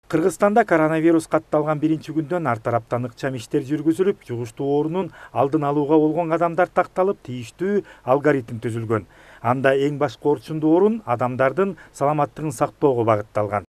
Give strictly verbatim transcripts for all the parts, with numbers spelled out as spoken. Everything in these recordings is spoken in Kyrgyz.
Кыргызстанда коронавирус катталган биринчи күндөн ар тараптан ыкчам иштер жүргүзүлүп, жугуштуу оорунун алдын алууга болгон кадамдар такталып, тийиштүү алгоритм түзүлгөн. Анда эң башкы орчундуу орун адамдардын саламаттыгын сактоого багытталган.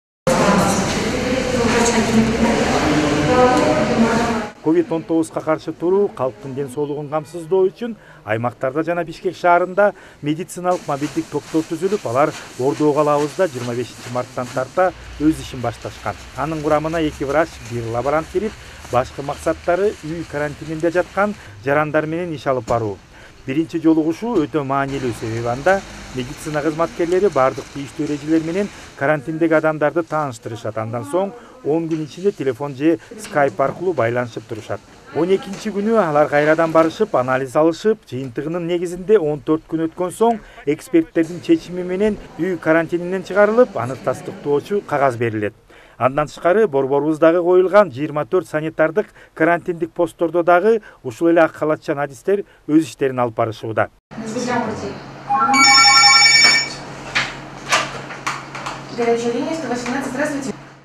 ковид он тогузга каршы туруу, калктын ден соолугун камсыздоо үчүн аймактарда жана Бишкек шаарында медициналык мобилдик топтор түзүлүп, алар Ордо калабызда жыйырма бешинчи марттан тарта өз ишин башташкан. Анын курамына эки врач, бир лаборант кирип, башкы максаттары үй карантининде жаткан жарандар менен иш алып баруу. Биринчи жолугушуу өтө маанилүү, себеби анда медицина кызматкерлери бардык тийиштүү эрежелер менен карантиндеги адамдарды тааныштырышат. Андан соң он күн ичинде телефон же скайп аркылуу байланышып турушат. он экинчи күнү алар кайрадан барышып, анализ алышып, жыйынтыгынын негизинде он төрт күн өткөн соң эксперттердин чечими менен үй карантининен чыгарылып, аны тастыктоочу кагаз берилет. Андан тышкары борборубуздагы коюлган жыйырма төрт санитардык карантиндик посттордо дагы ушул эле ак халатчан адистер өз иштерин алып барышууда.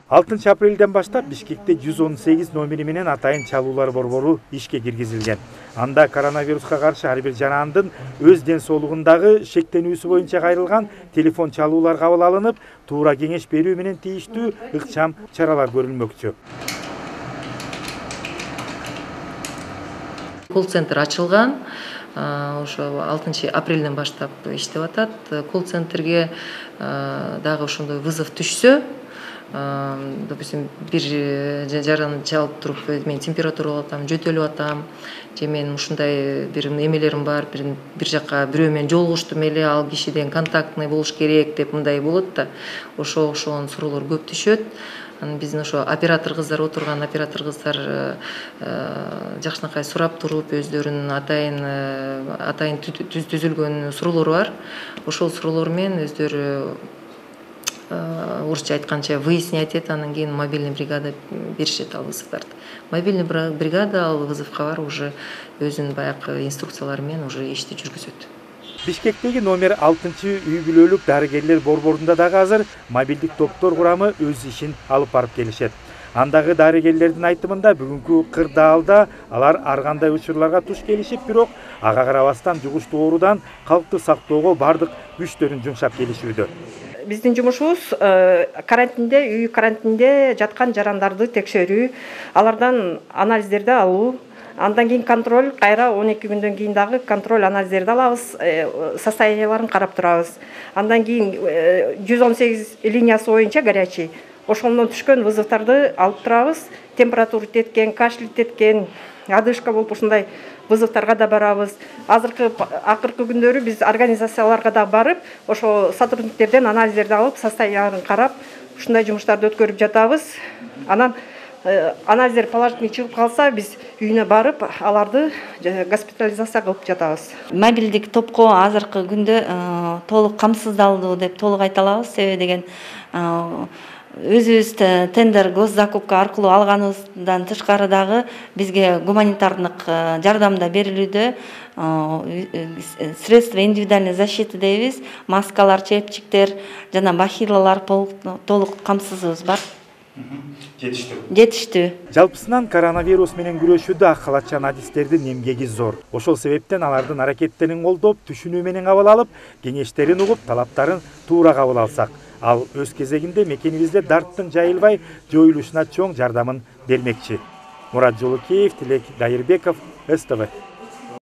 алтынчы апрелден баштап Бишкекте жүз он сегиз номери менен атайын чалуулар борбору ишке киргизилген. Анда коронавируска каршы ар бир жарандын өз ден соолугундагы шектенүүсү боюнча кайрылган телефон чалуулар кабыл алынып, туура кеңеш берүү менен тийиштүү ыкчам чаралар көрүлмөкчү. Колл-центр ачылган. Ошо алтынчы апрелден баштап иштеп атат. Колл-центрге дагы ошондой вызов түшсө, допустим, бир жараны чалып туруп, мен температура алып атам, жөтөлүп атам, же мен ушундай бир эмелерим бар, бир бир жакка бирөө менен жолугуштум эле, ал кишиден контактный болуш керек деп мындай болот да. Ошо ошон суроолор көп түшөт. Анан биздин ошо оператор кыздар отурган оператор кыздар жакшынакай сурап туруп, өздөрүнүн атайын атайын түзүлгөн суроолору бар. Ошол суроолор менен өздөрү орусча айтканча выяснять этет, анан кийин мобильный бригада беришет ал вызовдарды. Мобильный бригада ал вызовка барып уже өзүнүн баягы инструкциялары менен уже ишти жүргүзөт. Бишкектеги номер алтынчы үй бүлөлүк дарыгерлер борборунда дагы азыр мобилдик топтор курамы өз ишин алып барып келишет. Андагы дарыгерлердин айтымында бүгүнкү кырдаалда алар ар кандай учурларга туш келишип, бирок ага карабастан жугуштуу оорудан калкты сактоого бардык күчтөрүн жумшап келишүүдө. Биздин жумушубуз карантинде, үй карантинде жаткан жарандарды текшерүү, алардан анализдерди алуу, андан кийин контроль, кайра он эки күндөн кийин дагы контроль анализдерди алабыз, состоянияларын карап турабыз. Андан кийин жүз он сегиз линиясы боюнча горячий, ошондон түшкөн вызовдорду алып турабыз. Температура теткен, кашель теткен, одышка болуп ушундай вызовторго да барабыз. Азыркы акыркы күндөрү биз организацияларга да барып, ошо сотрудниктерден анализдерди алып, состоянияларын карап, ушундай жумуштарды өткөрүп жатабыз. Анан анализдер положительный чыгып калса, биз үйүнө барып, аларды госпитализация кылып жатабыз. Мобилдик топко азыркы күндө толук камсыздалды деп толук айта алабыз. Себеби деген өзүбүз тендер госзакупка аркылуу алганыбыздан тышкары дагы бизге гуманитардык жардам да берилүүдө. Средства индивидуальной защиты дейбиз, маскалар, чепчиктер жана бахилалар толук камсызыбыз бар. Жетиштүү. Жетиштүү. Жалпысынан коронавирус менен күрөшүүдө ак халатчан адистердин эмгеги зор. Ошол себептен алардын аракеттерин колдоп, түшүнүү менен кабыл алып, кеңештерин угуп, талаптарын туура кабыл алсак, ал өз кезегинде мекенибизде дарттын жайылбай жоюлушуна чоң жардамын бермекчи. Мурат Жолукеев, Тилек Дайырбеков, эс тэ вэ.